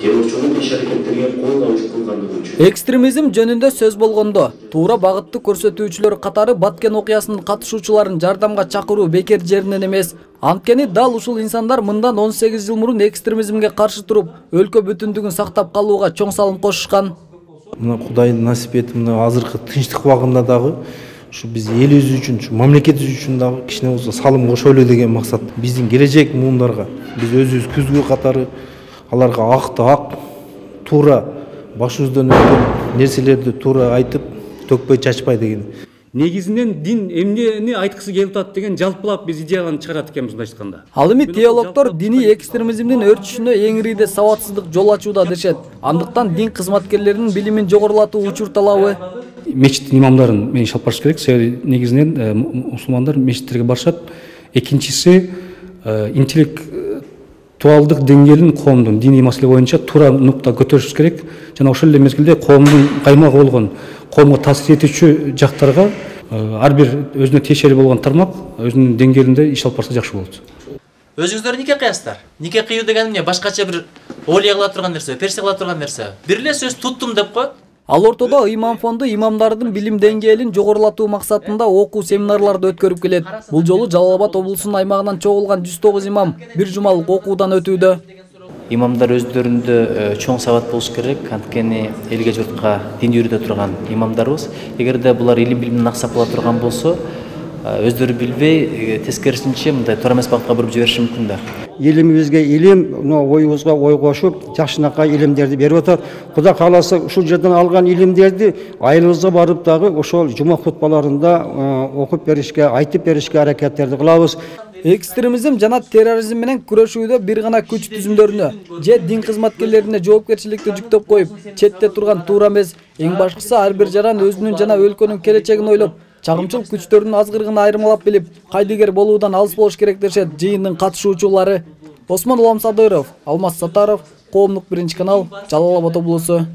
террорчунун иш-аракеттерге кол табыш кылгандыгы үчүн. Экстремизм жөнүндө сөз болгондо туура багытты көрсөтүүчүлөр катары Баткен окуясынын катышуучуларын жардамга чакыруу бекер жеринен эмес. Анткени дал ушул инсандар мындан 18 жыл мурун экстремизмге каршы туруп, өлкө бүтүндүгүн сактап калууга чоң салым кошушкан. Мына Кудайдын насип этип, мына азыркы тынчтык убагында дагы ушу биз элибиз үчүн, мамлекетибиз үчүн дагы кичине болсо салым кошолу деген максат. Биздин келечек муундарга биз өзүбүз күзгү катары аларга акты ак, туура башыбыздан өткөн нерселерди туура айтып, төкпөй чачпай деген. Негизинен дин эмнени айткысы келип атат деген жалпылап биз идеяларын чыгарат экенбиз мындай айтканда. Ал эми теологдор диний экстремизмдин өрчүшүнө эң ириде сабатсыздык жол ачууда дешет. Андыктан дин кызматкерлеринин билимин жогорулатуу учур талабы. Мечиттин имамдарын мен алып барыш керек. Себеби негизинен мусулмандар мечиттерге барышат. Экинчиси интеллектуалдык деңгээлин коомдун диний маселе боюнча туура нукта көтөрүш керек. Жана ошол эле мезгилде коомдун каймагы болгон, коомго таасир этүүчү жактарга ар бир өзүнө тиешелүү болгон тармак өзүнүн деңгээлинде иш алып барса жакшы болот. Өзүңүздөр нике кыясыздар? Нике кыюу деген эмне? Башкача бир олия кыла турган нерсе, персе кыла турган нерсе. Бир эле сөз туттум деп коет. Ал ортодо Ыйман фонду имамдардын билим деңгээлин жогорулатуу максатында окуу семинарларды өткөрүп келет. Бул жолу Жалал Абад облусунун аймагынан чогулган 109 имам бир жумалык окуудан өтүүдө. Имамдар өздөрүндө чоң сабат болуш керек, анткени элге журтка дин үйрөтө турган имамдарыбыз. Эгерде булар илим билимин аксап кала турган болсо, өздөрү билбей, тескерисинче мындай туура эмес багытка буруп жибериши мүмкүн да. Илимибизге илим, оюбузга ой кошуп, жакшынакай илимдерди берип атат. Кудай кааласа ушул жерден алган илимдерди айылыбызга барып дагы ошол жума хутбаларында окуп беришке, айтып беришке аракеттерди кылабыз. Экстремизм жана терроризм менен күрөшүүдө бир гана күч түзүмдөрүнө же дин кызматкерлерине жоопкерчиликти жүктөп коюп, четте турган туура эмес. Эң башкысы ар бир жаран өзүнүн жана өлкөнүн келечегин ойлоп, чагымчыл күчтөрдүн азгырыгын айырмалап билип, кайдыгер болуудан алыс болуш керек дешет жыйындын катышуучулары. Осмон Уламсадыров, Алмаз Сатаров, Коомдук 1 канал, Жалал Абад облусу.